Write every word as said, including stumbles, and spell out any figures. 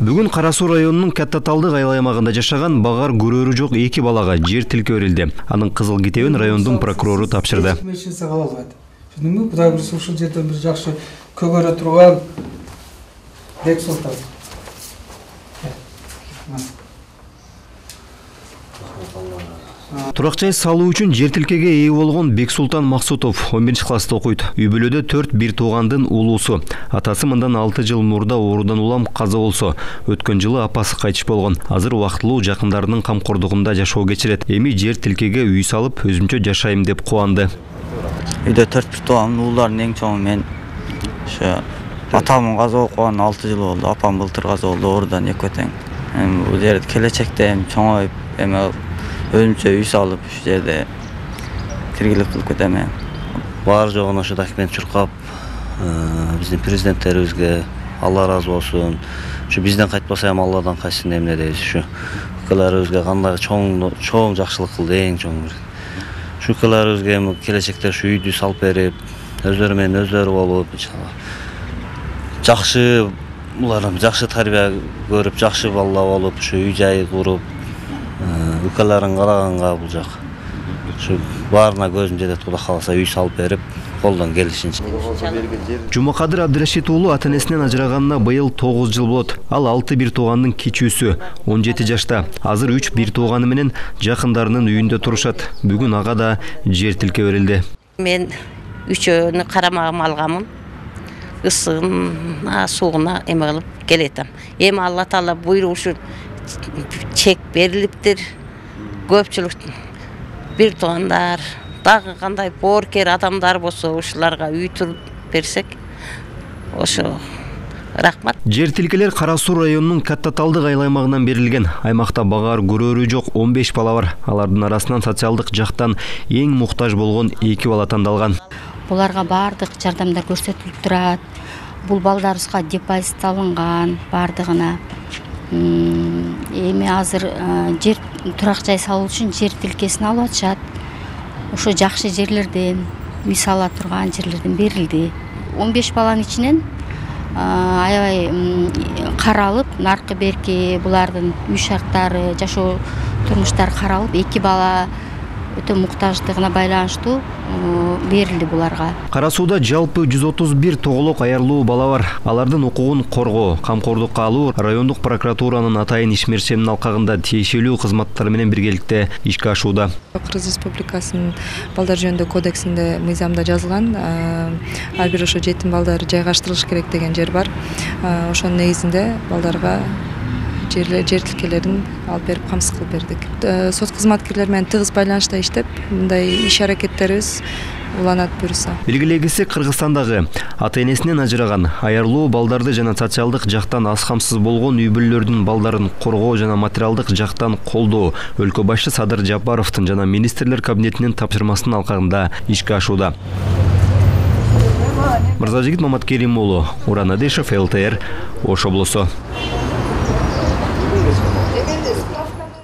Бүгүн Кара Суу районунун Катта Талдык айыл аймагында жашаган багар көрөрү жок эки балага жер тилке берилди. Анын кызыл китебин райондун прокурору тапшырды. Түшүндүңбү? Кудай буйруса ушул жерден бир жакшы көгөрө турган Бексултан. Турак жай салуу үчүн жер тилкеге ээ болгон Бексултан Максутов он биринчи класста окуйт. Үй бүлөдө төрт бир туугандын улуусу. Атасы мындан алты жыл мурда оорудан улам каза болсо, өткөн жылы апасы кайтыш болгон. Азыр убактылуу жакындарынын камкордугунда жашоо кечирет. Эми жер тилкеге үй салып, өзүмчө жашайм деп кубанды. Үйдө төрт бир тууган уулардын эң чоңу мен. Ошо атамын каза болуп калган алты жыл болду. Апам былтыр каза болду оорудан экөө тең. Эми бул жерде келечекте эми чоңоюп, эми өзүмчө үй салып, ушу жерде тиргилик кылып кетем. Бар жогун ошо документ чуркап, биздин президенттерибизге Алла ыраазы болсун. Ушу бизден кайтпаса эми Алладан кайтсын эмне дейбиз. Ушу ыкаларыбызга кандай чоң чоң жакшылык кылды, эң чоң бир. Ушу ыкаларыбызга эми келечекте ушу үйдү салып берип, өздөрү менен өздөрү болуп, иншалла жакшы буларым жакшы тарбия көрүп, жакшы балла болуп, ушу үй жай куруп, ыкаларын караганга бул жак. Ушу баарына көзүм жетет, Кудай кааласа үй салып берип, колдон келишинче. Жумакадыр Абдырашид уулу ата-энесинен ажыраганына быйыл тогуз жыл болот. Ал алты бир туугандын кичүүсү, он жети жашта. Азыр үч бир тууганы менен жакындарынын үйүндө турушат. Бүгүн ага да жер тилке берилди. Мен үчөөнү карамагыма алганмын. Ысыгына, сууна эме кылып келетем. Эми Алла Таала буйругу чек берилиптир. Көпчүлүк бир туугандар, дагы кандай боорукер адамдар болсо, ушуларга үй туруп берсек, ошо рахмат. Жер тилкелер Кара Суу районунун Катта Талдык айыл аймагынан берилген. Аймакта багар көрөрү жок он беш бала бар. Алардын арасынан социалдык жактан эң муктаж болгон эки бала тандалган. Буларга бардык жардамдар көрсөтүлүп турат. Бул балдарыбызга депозит алынган бардыгына. Эми азыр жер турак жай салуу үчүн жер тилкесин алып атышат. Ошо жакшы жерлерден, үй сала турган жерлерден берилди. он беш баланын ичинен аябай каралып, наркы берки булардын үй шарттары, жашоо турмуштары каралып, эки бала өтө муктаждыгына байланыштуу берилди буларга. Кара Сууда жалпы жүз отуз бир тоголок аярлуу бала бар. Алардын укугун коргоо, камкордукка алуу райондук прокуратуранын атайын ишмерчемдин алкагында тиешелүү кызматтар менен биргеликте ишке ашууда. Кыргыз Республикасынын балдар жөнүндө кодексинде мыйзамда жазылган, ар бир ошо жетим балдар жайгаштырылыш керек деген жер бар. Ошонун негизинде балдарга жер тилкелерин алып берип камсыз кылып бердик. Сот кызматкерлери менен тыгыз байланышта иштеп, мындай иш аракеттерибиз уланат буюрса. Белгилегиси Кыргызстандагы ата-энесинен ажыраган, аярлуу балдарды жана социалдык жактан аз камсыз болгон үй бүлөлөрдүн балдарын коргоо жана материалдык жактан колдоо өлкө башчы Садыр Жапаровдун жана министрлер кабинетинин тапшырмасынын алкагында ишке ашууда. Мырзажигит Маматкерим уулу, Уран Адешев, эл тэ эр, Ош облусу.